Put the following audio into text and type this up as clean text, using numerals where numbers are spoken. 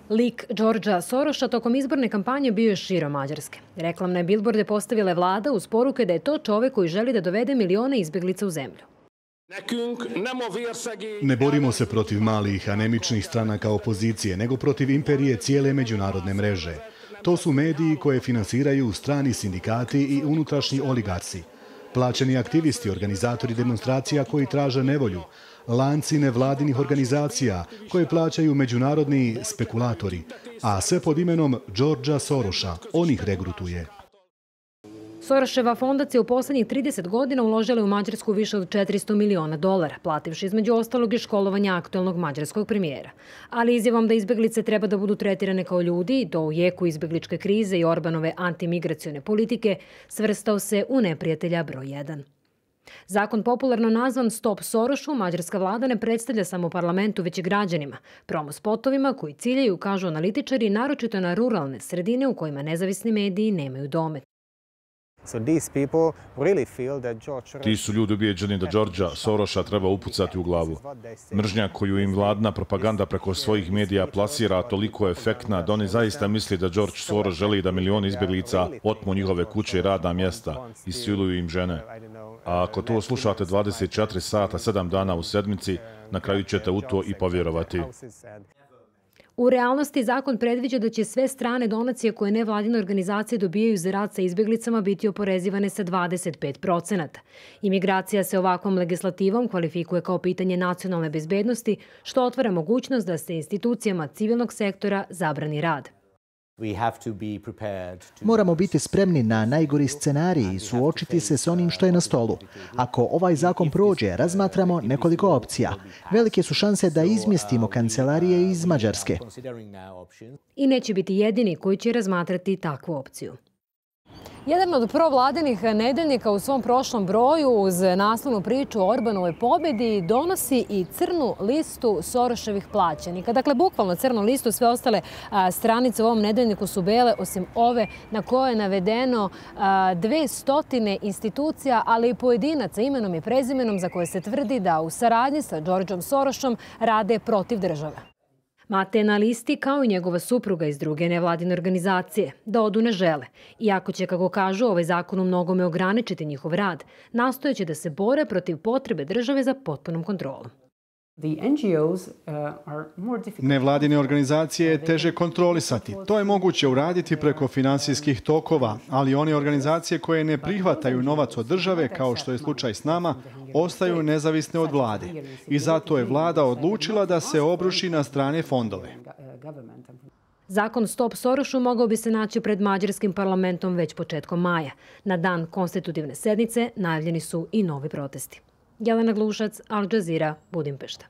Lik Georgea Sorosa tokom izborne kampanje bio je širom Mađarske. Reklamne bilborde postavila je vlada uz poruke da je to čovek koji želi da dovede milione izbeglica u zemlju. Ne borimo se protiv malih, anemičnih stranaka opozicije, nego protiv imperije cijele međunarodne mreže. To su mediji koje finansiraju strani sindikati i unutrašnji oligarsi. Plaćeni aktivisti, organizatori demonstracija koji traže nevolju, lanci nevladinih organizacija koje plaćaju međunarodni spekulatori, a sve pod imenom Georgea Sorosa. On ih regrutuje. Soroseva fondacija u poslednjih 30 godina uložila je u Mađarsku više od $400 miliona, plativši između ostalog i školovanja aktuelnog mađarskog premijera. Ali izjavom da izbeglice treba da budu tretirane kao ljudi, i to u jeku izbegličke krize i Orbanove antimigracione politike, svrstao se u neprijatelja broj 1. Zakon popularno nazvan Stop Sorosu mađarska vlada ne predstavlja samo parlamentu, već i građanima, promo spotovima koji ciljaju, kažu analitičari, naročito na ruralne sredine u kojima nezavisni mediji nemaju domet. Ti su ljudi ubijeđeni da Georgea Sorosa treba upucati u glavu. Mržnja koju im vladna propaganda preko svojih medija plasira toliko je efektna da oni zaista misli da George Soros želi da milioni izbjeglica otmu njihove kuće i radna mjesta i siluju im žene. A ako to slušate 24 sata, 7 dana u sedmici, na kraju ćete u to i povjerovati. U realnosti zakon predviđa da će sve strane donacije koje nevladine organizacije dobijaju za rad sa izbjeglicama biti oporezivane sa 25%. Imigracija se ovakvom legislativom kvalifikuje kao pitanje nacionalne bezbednosti, što otvara mogućnost da se institucijama civilnog sektora zabrani rad. Moramo biti spremni na najgori scenarij i suočiti se s onim što je na stolu. Ako ovaj zakon prođe, razmatramo nekoliko opcija. Velike su šanse da izmjestimo kancelarije iz Mađarske. I neće biti jedini koji će razmatrati takvu opciju. Jedan od provladinih nedeljnika u svom prošlom broju uz naslovnu priču o Orbanovoj pobjedi donosi i crnu listu Soroševih plaćenika. Dakle, bukvalno crnu listu, sve ostale stranice u ovom nedeljniku su bele, osim ove na kojoj je navedeno 200 institucija, ali i pojedinaca imenom i prezimenom za koje se tvrdi da u saradnji sa Georgeom Sorosom rade protiv države. Mate je na listi kao i njegova supruga iz druge nevladine organizacije. Da odu ne žele. Iako će, kako kažu, ovaj zakon u mnogome ograničiti njihov rad, nastojeći da se bore protiv potrebe države za potpunom kontrolom. Nevladine organizacije je teže kontrolisati. To je moguće uraditi preko finansijskih tokova, ali one organizacije koje ne prihvataju novac od države, kao što je slučaj s nama, ostaju nezavisne od vlade. I zato je vlada odlučila da se obruši na strane fondove. Zakon Stop Sorosu mogao bi se naći pred mađarskim parlamentom već početkom maja. Na dan konstitutivne sednice najavljeni su i novi protesti. Jelena Glušac, Al Jazeera, Budimpešta.